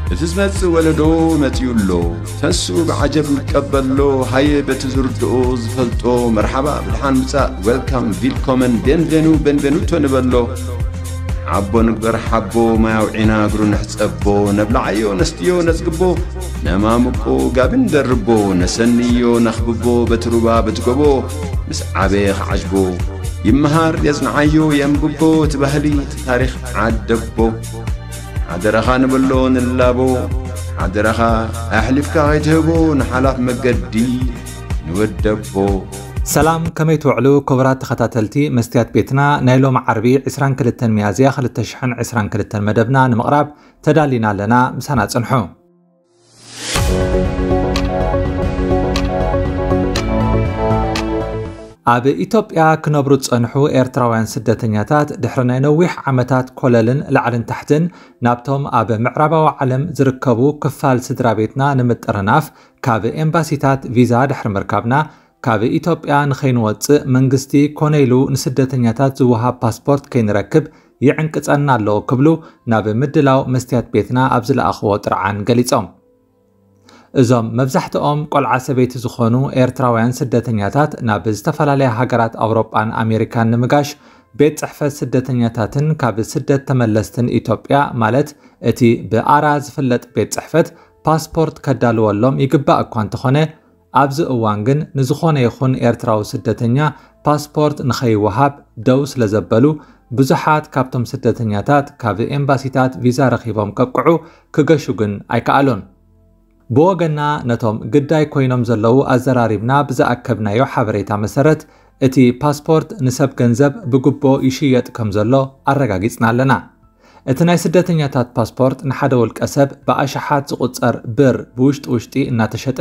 እቲ ዝመጽእ ወለዶ መጺኡ ኣሎ። ተንስኡ ብዓጀብ ንቀበሎ። ሃየ በቲ ዝርድኦ ዝፈልጦ መርሓባ ብድሓን ምጻእ፣ ዌልካም፣ ቪልኮመን፣ ቤንቬኑ፣ ቤንቬኑቶ ንበሎ። ሓቦ ንግበር ሓቦ፣ ማይ ኣውዒና እግሩ ንሕጸቦ። ነብልዓዮ ነስትዮ ነጽግቦ፣ ነማምቆ ጋቢ ንደርቦ። ነሰንዮ ነኽብቦ በቲ ሩባ በቲ ጎቦ። ምስ ዓበየ ክዓጅቦ፣ ይመሃር የጽንዓዮ የንብቦ። እቲ ባህሊ እቲ ታሪኽ ዓደቦ። ሓደራኻ ንበሎ ንላቦ፣ ሓደራኻ ኣሕሊፍካ ከይትህቦ ንሓላፍ መገዲ ንወደቦ። ሰላም፣ ከመይ ትውዕሉ ክቡራት ተኸታተልቲ መስትያት ቤትና? ናይ ሎም ዓርቢ ዕስራን ክልተን ሚያዝያ ክልተ ሽሕን ዕስራን ክልተን መደብና ንምቕራብ ተዳሊና ኣለና። ምሳና ጽንሑ። ኣብ ኢትዮጵያ ክነብሩ ዝጸንሑ ኤርትራውያን ስደተኛታት ድሕሪ ናይ ነዊሕ ዓመታት ኮለልን ላዕልን ታሕትን ናብቶም ኣብ ምዕራባዊ ዓለም ዝርከቡ ክፋል ስድራ ቤትና ንምጥርናፍ ካብ ኤምባሲታት ቪዛ ድሕሪ ምርካብና ካብ ኢትዮጵያ ንኸይንወጽእ መንግስቲ ኮነ ኢሉ ንስደተኛታት ዝወሃብ ፓስፖርት ከይንረክብ ይዕንቅጸና ኣሎ ክብሉ ናብ ምድላው መስትያት ቤትና ኣብ ዝለኣኽዎ ጥርዓን ገሊጾም። እዞም መብዛሕትኦም ቆልዓ ሰበይቲ ዝኾኑ ኤርትራውያን ስደተኛታት ናብ ዝተፈላለያ ሃገራት ኣውሮጳን ኣሜሪካን ንምጋሽ ቤት ጽሕፈት ስደተኛታትን ካብ ስደት ተመለስትን ኢትዮጵያ ማለት እቲ ብኣራ ዝፍለጥ ቤት ጽሕፈት ፓስፖርት ከዳልወሎም ይግባእ እኳ እንተኾነ፣ ኣብዚ እዋን ግን ንዝኾነ ይኹን ኤርትራዊ ስደተኛ ፓስፖርት ንኸይወሃብ ደው ስለ ዘበሉ፣ ብዙሓት ካብቶም ስደተኛታት ካብ ኤምባሲታት ቪዛ ረኺቦም ከብቅዑ ክገሹ ግን ኣይከኣሉን። ብወገና ነቶም ግዳይ ኮይኖም ዘለዉ ኣዘራሪብና ብዝኣከብናዮ ሓበሬታ መሰረት፣ እቲ ፓስፖርት ንሰብ ገንዘብ ብግቦ ይሽየጥ ከም ዘሎ ኣረጋጊጽና ኣለና። እቲ ናይ ስደተኛታት ፓስፖርት ንሓደ ውልቀ ሰብ ብኣሽሓት ዝቑጸር ብር ብውሽጢ ውሽጢ እናተሸጠ፣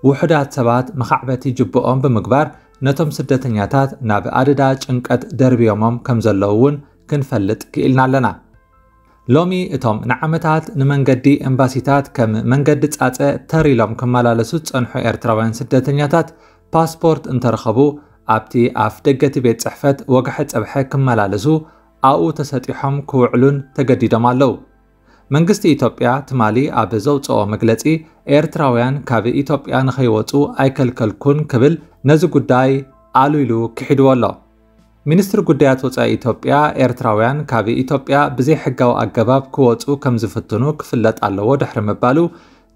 ውሑዳት ሰባት መኻዕበቲ ጅብኦም ብምግባር ነቶም ስደተኛታት ናብ ኣደዳ ጭንቀት ደርብዮሞም ከም ዘለዉ እውን ክንፈልጥ ክኢልና ኣለና። ሎሚ እቶም ንዓመታት ንመንገዲ ኤምባሲታት ከም መንገዲ ጻጸ ተር ኢሎም ክመላለሱ ዝጸንሑ ኤርትራውያን ስደተኛታት ፓስፖርት እንተረኸቡ ኣብቲ ኣፍ ደገ እቲ ቤት ጽሕፈት ወግሐ ጸብሐ ክመላለሱ ኣብኡ ተሰጢሖም ክውዕሉን ተገዲዶም ኣለዉ። መንግስቲ ኢትዮጵያ ትማሊ ኣብ ዘውጽኦ መግለጺ፣ ኤርትራውያን ካብ ኢትዮጵያ ንኸይወጹ ኣይከልከልኩን ክብል ነዚ ጉዳይ ኣሉ ኢሉ ክሒድዎ ኣሎ። ሚኒስትሪ ጉዳያት ወጻኢ ኢትዮጵያ፣ ኤርትራውያን ካብ ኢትዮጵያ ብዘይሕጋዊ ኣገባብ ክወጹ ከም ዝፍትኑ ክፍለጥ ኣለዎ ድሕሪ ምባሉ፣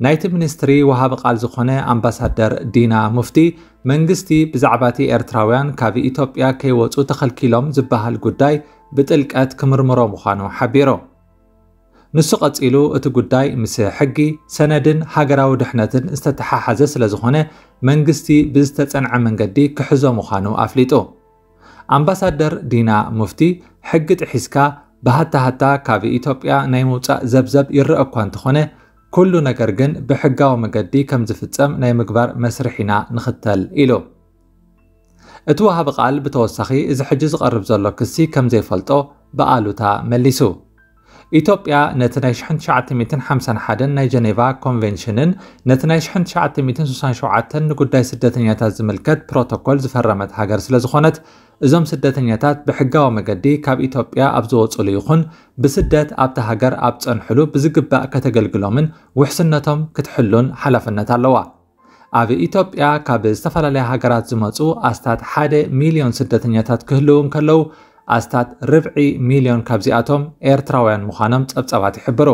ናይቲ ሚኒስትሪ ወሃቢ ቃል ዝኾነ ኣምባሳደር ዲና ሙፍቲ፣ መንግስቲ ብዛዕባ እቲ ኤርትራውያን ካብ ኢትዮጵያ ከይወጹ ተኸልኪሎም ዝበሃል ጉዳይ ብጥልቀት ክምርምሮ ምዃኑ ሓቢሩ። ንሱ ቀጺሉ፣ እቲ ጉዳይ ምስ ሕጊ፣ ሰነድን ሃገራዊ ድሕነትን ዝተተሓሓዘ ስለ ዝኾነ፣ መንግስቲ ብዝተጸንዐ መንገዲ ክሕዞ ምዃኑ ኣፍሊጡ። ኣምባሳደር ዲና ሙፍቲ፣ ሕጊ ጥሒስካ ብሃታሃታ ካብ ኢትዮጵያ ናይ ምውጻእ ዘብዘብ ይረአ እኳ እንተኾነ፣ ኩሉ ነገር ግን ብሕጋዊ መገዲ ከም ዝፍጸም ናይ ምግባር መስርሕ ኢና ንኽተል ኢሉ። እቲ ወሃቢ ቃል ብተወሳኺ፣ እዚ ሕጂ ዝቐርብ ዘሎ ክሲ ከም ዘይፈልጦ ብኣሉታ መሊሱ። ኢትዮጵያ ነቲ ናይ ሽሕን ትሽዓተ ሚእትን ሓምሳን ሓደን ናይ ጀኔቫ ኮንቬንሽንን ነቲ ናይ ሽሕን ትሽዓተ ሚእትን ስሳን ሸውዓተን ንጉዳይ ስደተኛታት ዝምልከት ፕሮቶኮል ዝፈረመት ሃገር ስለ ዝኾነት፣ እዞም ስደተኛታት ብሕጋዊ መገዲ ካብ ኢትዮጵያ ኣብ ዝወጹሉ ይኹን ብስደት ኣብታ ሃገር ኣብ ጸንሕሉ ብዝግባእ ከተገልግሎምን ውሕስነቶም ክትሕሉን ሓላፍነት ኣለዋ። ኣብ ኢትዮጵያ ካብ ዝተፈላለያ ሃገራት ዝመጹ ኣስታት ሓደ ሚልዮን ስደተኛታት ክህልዉ እንከለዉ፣ ኣስታት ርብዒ ሚልዮን ካብዚኣቶም ኤርትራውያን ምዃኖም ጸብጻባት ይሕብሩ።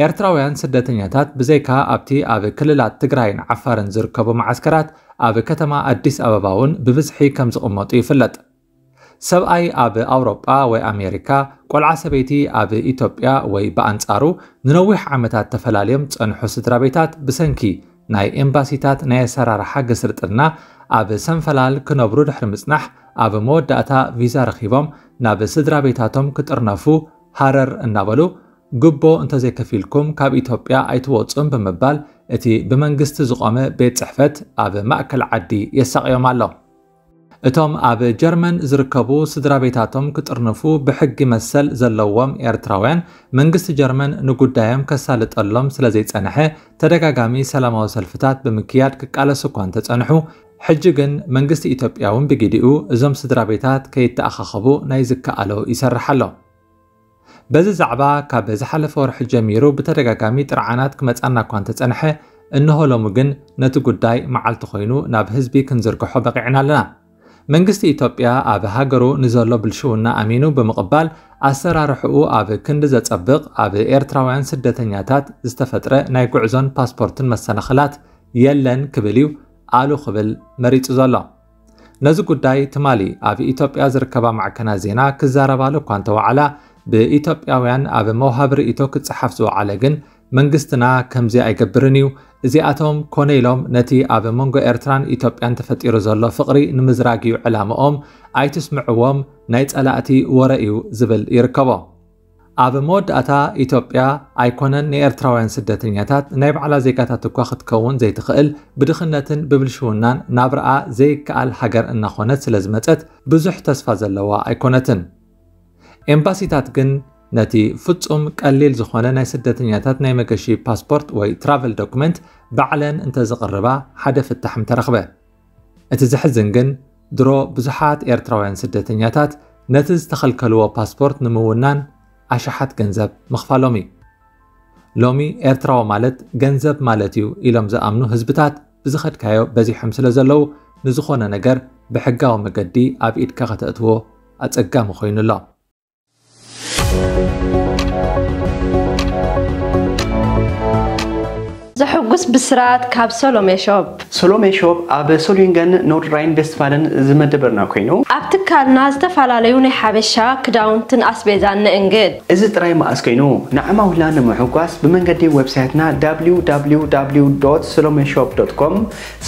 ኤርትራውያን ስደተኛታት ብዘይካ ኣብቲ ኣብ ክልላት ትግራይን ዓፋርን ዝርከቡ መዓስከራት፣ ኣብ ከተማ ኣዲስ ኣበባ እውን ብብዝሒ ከም ዝቕመጡ ይፍለጥ። ሰብኣይ ኣብ ኣውሮጳ ወይ ኣሜሪካ፣ ቆልዓ ሰበይቲ ኣብ ኢትዮጵያ ወይ ብኣንጻሩ ንነዊሕ ዓመታት ተፈላልዮም ዝጸንሑ ስድራ ቤታት ብሰንኪ ናይ ኤምባሲታት ናይ ኣሰራርሓ ግስርጥና ኣብ ሰንፈላል ክነብሩ ድሕሪ ምጽናሕ፣ ኣብ መወዳእታ ቪዛ ረኺቦም ናብ ስድራ ቤታቶም ክጥርነፉ ሃረር እናበሉ፣ "ጉቦ እንተዘይከፊልኩም ካብ ኢትዮጵያ ኣይትወጹን" ብምባል እቲ ብመንግስቲ ዝቖመ ቤት ጽሕፈት ኣብ ማእከል ዓዲ የሳቕዮም ኣሎ። እቶም ኣብ ጀርመን ዝርከቡ ስድራ ቤታቶም ክጥርንፉ ብሕጊ መሰል ዘለዎም ኤርትራውያን፣ መንግስቲ ጀርመን ንጉዳዮም ከሳልጠሎም ስለ ዘይጸንሐ፣ ተደጋጋሚ ሰላማዊ ሰልፍታት ብምክያድ ክቃለሱ እኳ እንተጸንሑ፣ ሕጂ ግን መንግስቲ ኢትዮጵያ እውን ብግዲኡ እዞም ስድራ ቤታት ከይተኣኻኸቡ ናይ ዝከኣሎ ይሰርሕ ኣሎ። በዚ ዛዕባ ካብ ዝሓለፈ ወርሒ ጀሚሩ ብተደጋጋሚ ጥርዓናት ክመጻና እኳ እንተጸንሐ፣ እንሆ ሎሚ ግን ነቲ ጉዳይ መዓልቲ ኮይኑ ናብ ህዝቢ ክንዝርግሖ በቒዕና ኣለና። መንግስቲ ኢትዮጵያ ኣብ ሃገሩ ንዘሎ ብልሽውና ኣሚኑ ብምቕባል፣ ኣሰራርሕኡ ኣብ ክንዲ ዘጸብቕ፣ ኣብ ኤርትራውያን ስደተኛታት ዝተፈጥረ ናይ ጉዕዞን ፓስፖርትን መሰናኽላት የለን ክብል እዩ ኣሉ ክብል መሪጹ ዘሎ። ነዚ ጉዳይ ትማሊ ኣብ ኢትዮጵያ ዝርከባ ማዕከናት ዜና ክዛረባሉ እኳ እንተወዓላ፣ ብኢትዮጵያውያን ኣብ መውሃቢ ርእይቶ ክጸሓፍ ዝወዓለ ግን፣ መንግስትና ከምዚ ኣይገብርን እዩ፣ እዚኣቶም ኮነ ኢሎም ነቲ ኣብ መንጎ ኤርትራን ኢትዮጵያን ተፈጢሩ ዘሎ ፍቕሪ ንምዝራግ እዩ ዕላምኦም፣ ኣይትስምዕዎም፣ ናይ ጸላእቲ ወረ እዩ ዝብል ይርከቦ። ኣብ መወዳእታ፣ ኢትዮጵያ ኣይኮነን ንኤርትራውያን ስደተኛታት፣ ናይ ባዕላ ዜጋታት እኳ ክትከውን ዘይትኽእል፣ ብድኽነትን ብብልሽውናን ናብርኣ ዘይከኣል ሃገር እናኾነት ስለ ዝመጸት፣ ብዙሕ ተስፋ ዘለዋ ኣይኮነትን። ኤምባሲታት ግን ነቲ ፍጹም ቀሊል ዝኾነ ናይ ስደተኛታት ናይ መገሺ ፓስፖርት ወይ ትራቨል ዶክመንት ባዕለን እንተዝቕርባ ሓደ ፍታሕ ምተረኽበ። እቲ ዘሕዝን ግን ድሮ ብዙሓት ኤርትራውያን ስደተኛታት ነቲ ዝተኸልከልዎ ፓስፖርት ንምውናን ኣሽሓት ገንዘብ ምኽፋሎም እዩ። ሎሚ ኤርትራዊ ማለት ገንዘብ ማለት እዩ ኢሎም ዝኣምኑ ህዝብታት ብዝኸድካዮ በዚሖም ስለ ዘለዉ፣ ንዝኾነ ነገር ብሕጋዊ መገዲ ኣብ ኢድካ ከተእትዎ ኣጸጋሚ ኮይኑ ኣሎ። ዘሕጉስ ብስራት ካብ ሰሎሜ ሾፕ። ሶሎሜ ሾፕ ኣብ ሶሊንገን ኖርድራይን ቬስትፋለን ዝመደበርና ኮይኑ፣ ኣብ ትካልና ዝተፈላለዩ ናይ ሓበሻ ክዳውንትን ኣስቤዛን ንእንግድ። እዚ ጥራይ መኣስ ኮይኑ፣ ንዓማዊልና ንምሕጓስ ብመንገዲ ዌብሳይትና www.solomeshop.com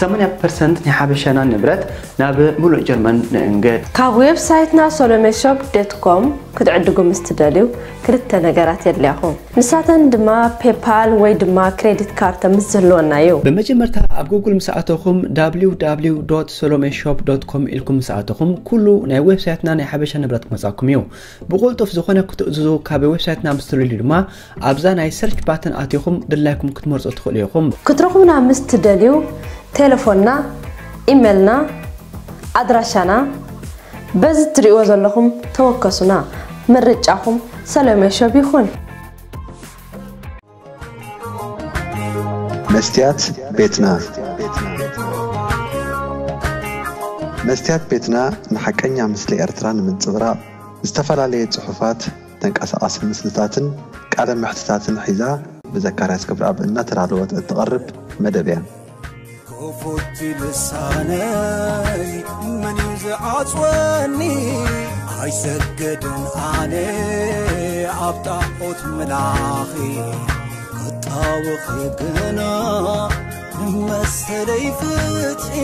ሰማንያ ፐርሰንት ናይ ሓበሻና ንብረት ናብ ሙሉእ ጀርመን ንእንግድ። ካብ ዌብሳይትና ሶሎሜ ሾፕ ዶት ኮም ክትዕድጉ ምስ ትደልዩ፣ ክልተ ነገራት የድልያኹም። ንሳተን ድማ ፔፓል ወይ ድማ ክሬዲት ካርተ ምስ ዝህልወና እዩ። ብመጀመርታ ኣብ ጉግል ምስ ኣተኹም፣ www.solomeshop.com ኢልኩም ምስ ኣተኹም፣ ኩሉ ናይ ዌብሳይትና ናይ ሓበሻ ንብረት ክመጻኩም እዩ። ብቕልጡፍ ዝኾነ ክትእዝዙ ካብ ዌብሳይትና ምስ ትደልዩ ድማ፣ ኣብዛ ናይ ሰርች ባተን ኣቲኹም ድላይኩም ክትመርጹ ትኽእሉ ኢኹም። ክትረኹብና ምስ ትደልዩ፣ ቴሌፎንና፣ ኢሜልና፣ ኣድራሻና በዚ ትሪእዎ ዘለኹም ተወከሱና። ምርጫኹም ሰለሜ ሾፕ ይኹን። መስትያት ቤትና። መስትያት ቤትና ንሓቀኛ ምስሊ ኤርትራ ንምንጽብራቕ፣ ዝተፈላለየ ጽሑፋት፣ ተንቀሳቓሲ ምስልታትን ቃለ መሕትታትን ሒዛ ብዘካርያስ ገብረኣብ እናተዳለወት እትቐርብ መደብ እያ። ክፉት ልሳነይ መን እዩ ዝዓጽወኒ? ኣይሰግድን ኣነ ኣብ ጣዖት ምላኺ፣ ክጣወኺ ግና መሰለይ ፍትሒ።